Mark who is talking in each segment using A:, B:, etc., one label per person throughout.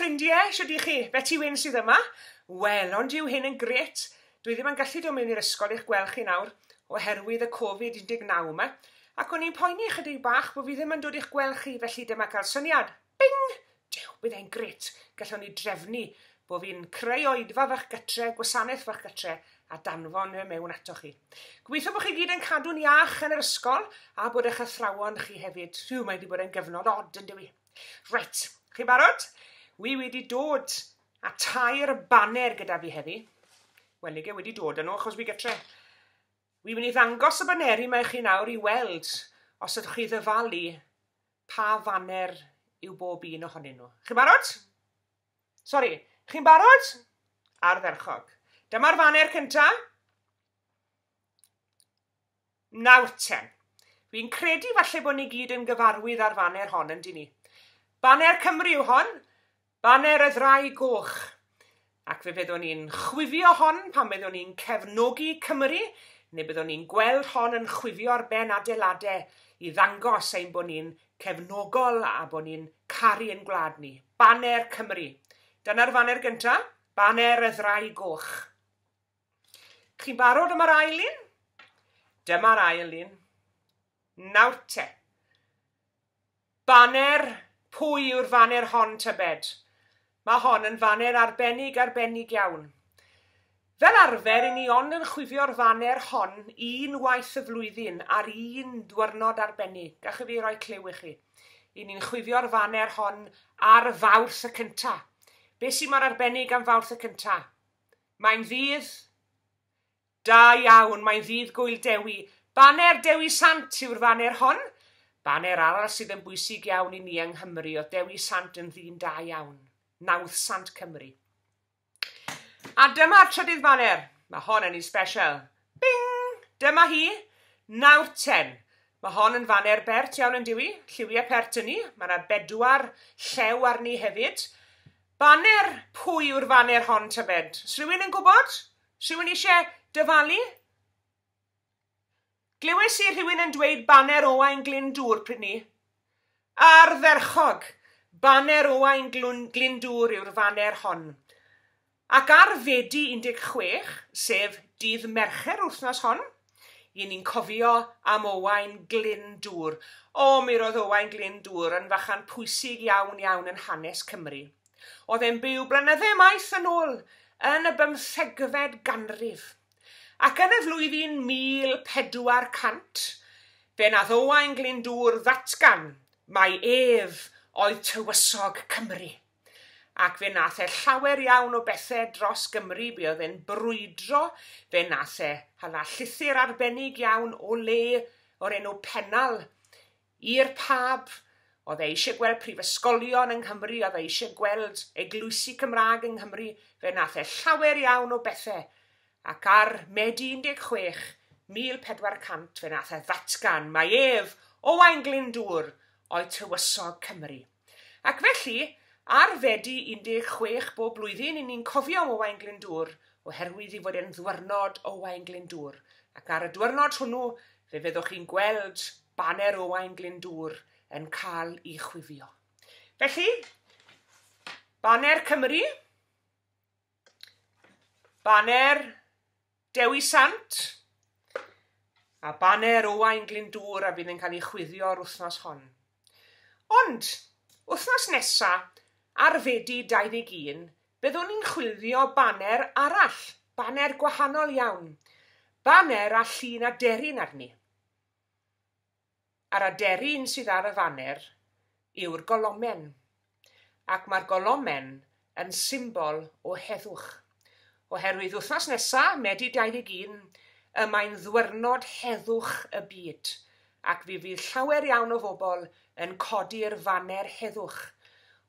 A: ffrindiau, shwd i chi? Beti Wyn sydd yma. Wel, ond yw hyn yn grêt? Dwi ddim yn gallu dod mewn i'r ysgol i'ch gweld chi nawr oherwydd y Covid-19 yma. Ac o'n i'n poeni chydig bach bod fi ddim yn dod i'ch gweld chi, felly dyma cael syniad. Bing! Duw, bydd e'n grêt. Gallwn ni drefnu bod fi'n creu oedfa fach gytre, gwasanaeth fach gytre, a danfon e mewn atoch chi. Gobeithio bod chi gyd yn cadw'n iach yn yr ysgol a bod eich athrawon chi hefyd. Rhyw, mae wedi bod yn gyfnod od yn dywi. Reit, chi'n barod? Wi wedi dod a tair baner gyda fi heddi. Wel, nige wedi dod â nhw achos fi gytre. Wi'n mynd i ddangos y baneri mae chi nawr i weld os ydych chi ddyfalu pa faner yw bob un ohonyn nhw. Chi'n barod? Sori, chi'n barod? Ardderchog. Dyma'r faner cynta. Nawr ten. Fi'n credu falle bod ni gyd yn gyfarwydd â'r faner hon, yn ni? Baner Cymru yw hon. Baner y Ddraig Goch. Ac fe fyddwn ni'n chwifio hon pan byddwn ni'n cefnogi Cymru, neu byddwn ni'n gweld hon yn chwifio ar ben adeiladau i ddangos ein bod ni'n cefnogol a bod ni'n caru ein gwlad ni. Baner Cymru. Dyna'r faner gyntaf, Baner y Ddraig Goch. Chi'n barod am yr ail un? Dyma'r ail un. Nawr te. Baner, pwy yw'r faner hon tybed? Mae hon yn faner arbennig arbennig iawn. Fel arfer, i ni ond yn chwifio'r faner hon un waith y flwyddyn ar un diwrnod arbennig. Gallwch fi roi cliw i chi. I ni'n chwifio'r faner hon ar Fawrth y cynta. Be sy'n mor arbennig am Fawrth y cynta? Mae'n ddydd da iawn, mae'n ddydd Gwyl Dewi. Baner Dewi Sant yw'r faner hon. Baner arall sydd yn bwysig iawn i ni yng Nghymru, oedd Dewi Sant yn ddyn da iawn. Nawdd Sant Cymru. A dyma'r trydydd baner. Mae hon yn un special. Bing! Dyma hi. Nawr ten. Mae hon yn faner bert iawn yn diwi. Lliwiau pert yn ni. Mae yna bedwar llew arni hefyd. Baner, pwy yw'r faner hon tybed? Os rhywun yn gwybod? Rhywun eisiau dyfalu? Glywes i rhywun yn dweud baner Owain Glyndŵr pryd ni. Ardderchog! Baner Owain Glyndŵr yw'r faner hon. Ac ar Fedi 16, sef dydd Mercher wythnos hon, i ni'n cofio am Owain Glyndŵr. O, mi roedd Owain Glyndŵr yn fachan pwysig iawn iawn yn hanes Cymru. Oedd e'n byw blynydde maith yn ôl yn y 15fed ganrif. Ac yn y flwyddyn 1400, fe nath Owain Glyndŵr ddatgan mai ef oedd tywysog Cymru. Ac fe nath e llawer iawn o bethau dros Gymru, be oedd e'n brwydro, fe nath e hala llythyr arbennig iawn o le o'r enw Pennal i'r pab. Oedd e eisiau gweld prifysgolion yng Nghymru, oedd e eisiau gweld eglwysi Cymraeg yng Nghymru, fe nath e llawer iawn o bethau. Ac ar Medi 16, 1400, fe nath e ddatgan mai ef, Owain Glyndŵr, oedd tywysog Cymru. Ac felly, ar Fedi 16 bob blwyddyn, i ni'n cofio am Owain Glyndŵr, oherwydd i fod e'n ddwyrnod Owain Glyndŵr. Ac ar y dwyrnod hwnnw, fe fyddwch chi'n gweld baner Owain Glyndŵr yn cael ei chwifio. Felly, baner Cymru, baner Dewi Sant, a baner Owain Glyndŵr a fydd yn cael ei chwifio'r wythnos hon. Ond, wythnos nesa, ar Fedi 21, byddwn ni'n chwilio baner arall, baner gwahanol iawn, baner a llun aderyn arni. A'r aderyn sydd ar y faner yw'r golomen, ac mae'r golomen yn symbol o heddwch. Oherwydd wythnos nesa, Medi 21, y mae'n ddwyrnod heddwch y byd, ac fe fydd llawer iawn o bobl yn codi'r faner heddwch.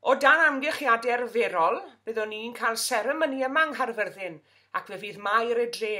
A: O dan amgylchiadau arferol, byddwn ni'n cael seremoni yma yng Nghaerfyrddin, ac fe fydd Maer y dre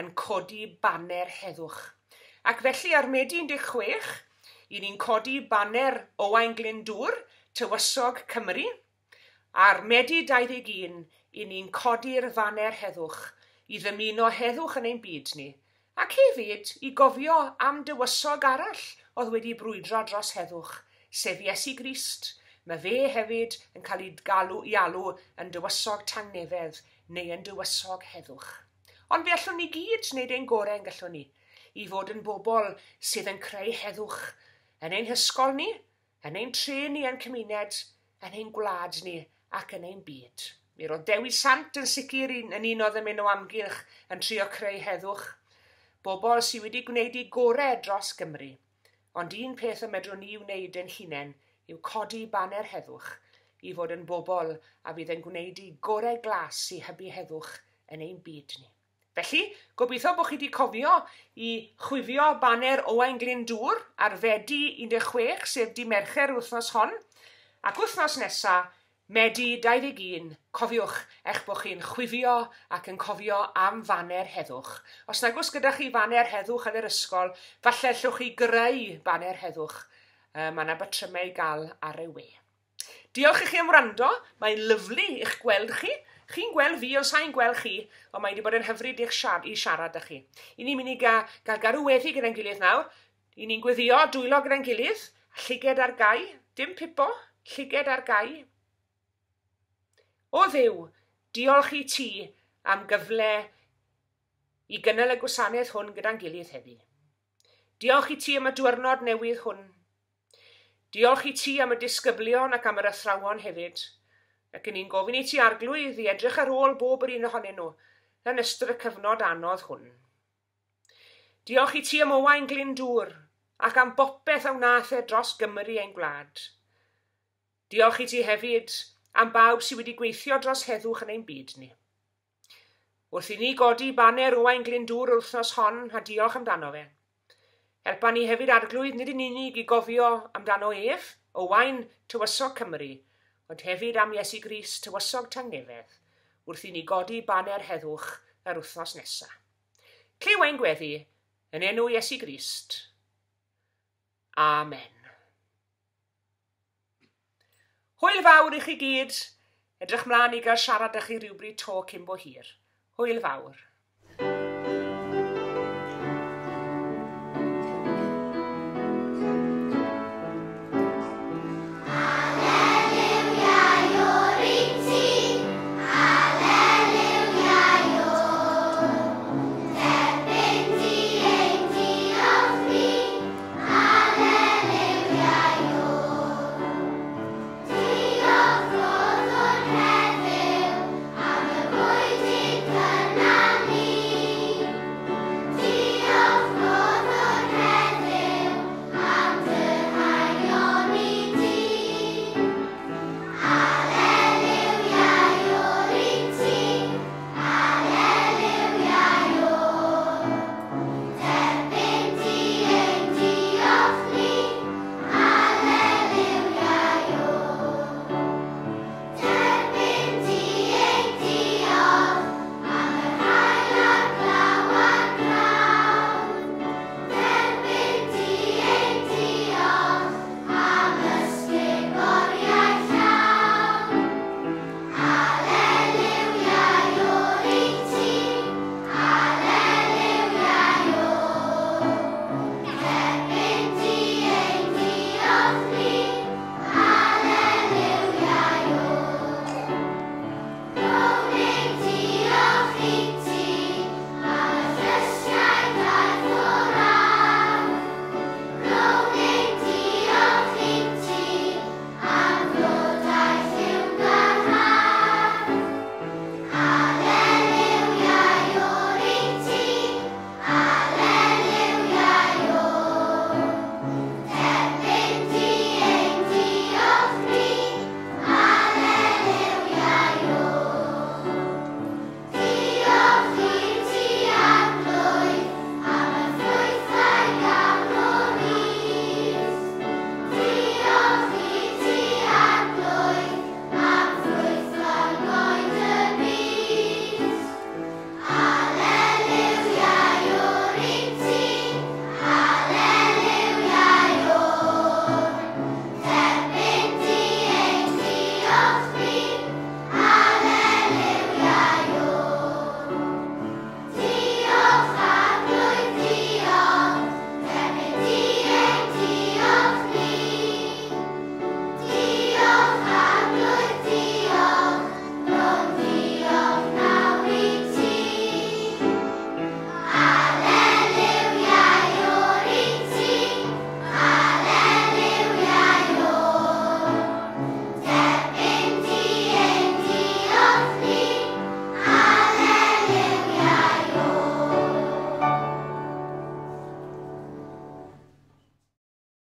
A: yn codi baner heddwch. Ac felly ar Medi 16, i ni'n codi baner Owain Glyndŵr, tywysog Cymru. Ar Medi 21, i ni'n codi'r faner heddwch, i ddymuno heddwch yn ein byd ni, ac hefyd i gofio am dywysog arall oedd wedi brwydro dros heddwch, sef Iesu Grist, Mae fe hefyd yn cael ei galw i alw yn dywysog tangnefedd neu yn dywysog heddwch. Ond fe allwn ni gyd wneud ein gorau yn gallwn ni i fod yn bobl sydd yn creu heddwch yn ein hysgol ni, yn ein tre ni yn cymuned, yn ein gwlad ni ac yn ein byd. Mi roedd Dewi Sant yn sicr yn un oedd yn mynd o amgylch yn trio creu heddwch. Bobl sydd wedi gwneud eu gorau dros Gymru. Ond un peth y medrwn ni wneud ein hunain yw codi baner heddwch i fod yn bobl a fydd yn gwneud eu gorau glas i hybu heddwch yn ein byd ni. Felly, gobeithio bod chi wedi cofio i chwifio baner Owain Glyndŵr ar Fedi 16, sef di Mercher wythnos hon. Ac wythnos nesa, Medi 21, cofiwch eich bod chi'n chwifio ac yn cofio am faner heddwch. Os nag oes gyda chi faner heddwch yn yr ysgol, falle allwch chi greu baner heddwch. Mae yna batrymau i gael ar y we. Diolch i chi am wrando. Mae'n lyfli i'ch gweld chi. Chi'n gweld fi, ond sa'n gweld chi, ond mae wedi bod yn hyfryd i'ch siar i siarad â chi. I ni'n mynd i gael, gael garw weddi gyda'n gilydd nawr. I ni'n gweddio dwylo gyda'n gilydd, llyged ar gau, dim pipo, llyged ar gau. O Dduw, diolch i ti am gyfle i gynnal y gwasanaeth hwn gyda'n gilydd heddi. Diolch i ti am y diwrnod newydd hwn. Diolch i ti am y disgyblion ac am yr athrawon hefyd. Ac yn ni'n gofyn i ti arglwydd i edrych ar ôl bob yr un ohonyn nhw yn ystod y cyfnod anodd hwn. Diolch i ti am Owain Glyndŵr ac am bopeth a wnaeth e dros Gymru ein gwlad. Diolch i ti hefyd am bawb sydd wedi gweithio dros heddwch yn ein byd ni. Wrth i ni godi baner Owain Glyndŵr yr wythnos hon, a diolch amdano fe. Helpa ni hefyd arglwydd nid yn unig i gofio amdano ef, Owain, Tywysog Cymru, ond hefyd am Iesu Grist, Tywysog Tangnefedd, wrth i ni godi baner heddwch yr wythnos nesaf. Clyw ein gweddi, yn enw Iesu Grist. Amen. Hwyl fawr i chi gyd. Edrych mlaen i gael siarad â chi rhywbryd to cyn bo hir. Hwyl fawr.